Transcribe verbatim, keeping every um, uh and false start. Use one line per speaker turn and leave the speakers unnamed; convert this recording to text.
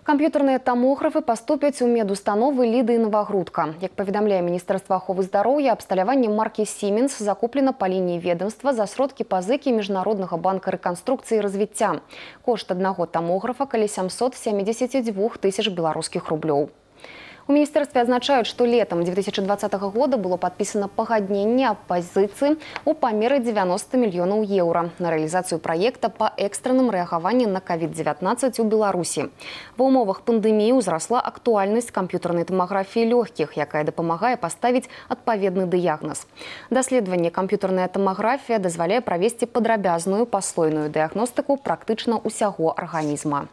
Камп'ютарныя тамографы паступяць у медустановы Ліды і Новагрудка. Як паведамляе Міністэрства аховы здароўя, абсталяванне маркі «Сіменс» закуплена па лініі ведомства за сродкі пазыкі Міжнароднага банка рэканструкцыі і развіцця. Кошт аднаго тамографа каля сямсот семидесяти двух тысяч беларускіх рублёў. У міністэрстве адзначаюць, што летам две тысячи двадцатого года было падпісана пагадненне аб пазіцыі ў памеры девяноста мільёнаў еўра на рэалізацыю праекта па экстранным рэагаванні на ковід девятнадцать у Беларусі. Ва ўмовах пандэміі ўзрасла актуальнасць камп'ютарнай тамаграфіі лёгкіх, якая дапамагае паставіць адпаведны дыягназ. Даследаванне камп'ютарная тамаграфія дазваляе правесці падрабязную паслойную дыягностыку практычна ўсяго арганізма.